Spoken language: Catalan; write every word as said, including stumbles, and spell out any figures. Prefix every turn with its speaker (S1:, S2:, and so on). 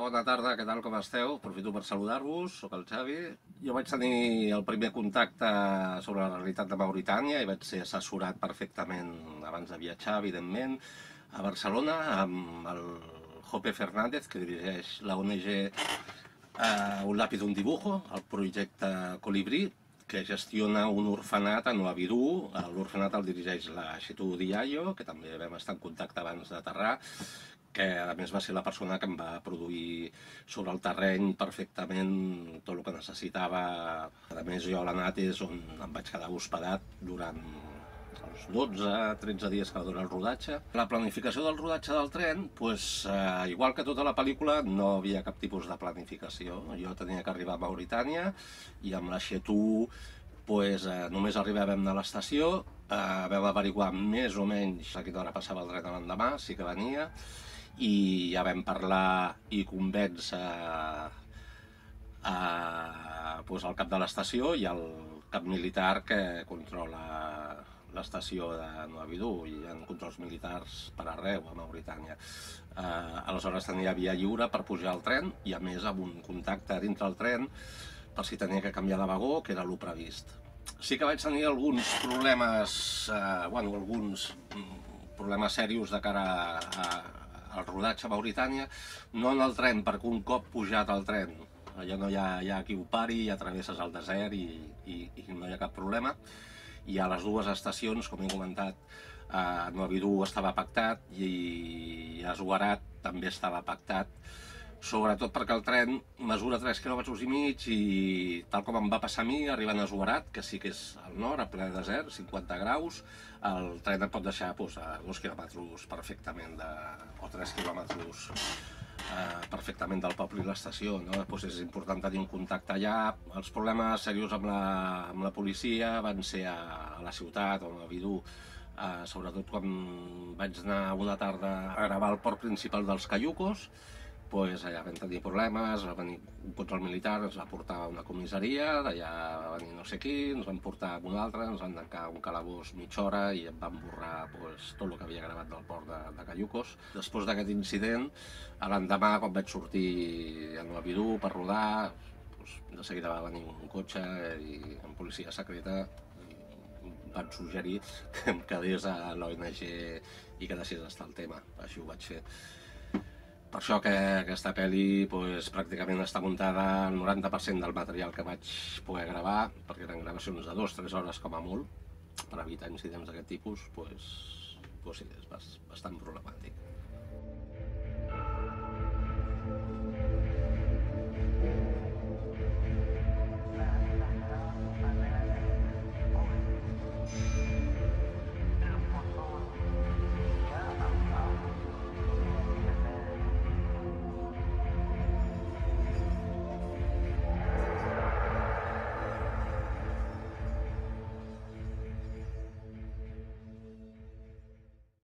S1: bona tarda, què tal, com esteu? Aprofito per saludar-vos, sóc el Xavi. Jo vaig tenir el primer contacte sobre la realitat de Mauritània i vaig ser assessorat perfectament abans de viatjar, evidentment, a Barcelona amb el Jope Fernández, que dirigeix la O N G eh, Un lápiz un dibujo, el projecte Colibrí, que gestiona un orfenat a Nouadhibou. L'orfenat el dirigeix la Chetou Diallo, que també vam estar en contacte abans d'aterrar, que a més va ser la persona que em va produir sobre el terreny perfectament tot el que necessitava. A més, jo a l'Anat és on em vaig quedar hospedat durant els dotze tretze dies que va durar el rodatge. La planificació del rodatge del tren, doncs, eh, igual que tota la pel·lícula, no havia cap tipus de planificació. Jo tenia que arribar a Mauritània i amb la Chetou pues, eh, només arribàvem a l'estació, eh, vam averiguar més o menys a quina hora passava el tren l'endemà, sí que venia, i ja vam parlar i convèncer a, pues, el cap de l'estació i el cap militar que controla l'estació de Nouadhibou. Hi ha controls militars per arreu a Mauritània. Eh, aleshores tenia via lliure per pujar al tren i a més amb un contacte dintre el tren per si tenia que canviar de vagó, que era el previst. Sí que vaig tenir alguns problemes, eh, bueno, alguns problemes serios de cara a, al rodatge a Mauritània, no en el tren, perquè un cop pujat al tren allò no hi ha, hi ha qui ho pari, ja travesses el desert i, i, i no hi ha cap problema. I a les dues estacions, com he comentat, a Nouadhibou estava pactat i a Zouarat també estava pactat, sobretot perquè el tren mesura tres quilòmetres i mig i tal com em va passar a mi, arribant a Zouarat, que sí que és al nord, a ple desert, cinquanta graus, el tren et pot deixar pues, a dos quilòmetres perfectament, de, o tres quilòmetres eh, perfectament del poble i l'estació, no? Pues és important tenir un contacte allà. Els problemes seriosos amb la, amb la policia van ser a, a la ciutat, a Nouadhibou, eh, sobretot quan vaig anar una tarda a gravar el port principal dels Cayucos. Pues allà vam tenir problemes, va venir un control militar, ens va portar a una comissaria, d'allà va venir no sé qui, ens van portar a una altra, ens van tancar un calabós mitja hora i em van borrar pues, tot el que havia gravat del port de, de Cayucos. Després d'aquest incident, l'endemà, quan vaig sortir a Nouadhibou per rodar, pues, de seguida va venir un cotxe i amb policia secreta i em van suggerir que em quedés a l'O N G i que deixés estar el tema. Així ho vaig fer. Per això que aquesta pel·li pues, pràcticament està muntada al noranta per cent del material que vaig poder gravar, perquè eren gravacions de dues tres hores com a molt, per evitar incidents d'aquest tipus, pues, pues sí, és bastant problemàtic.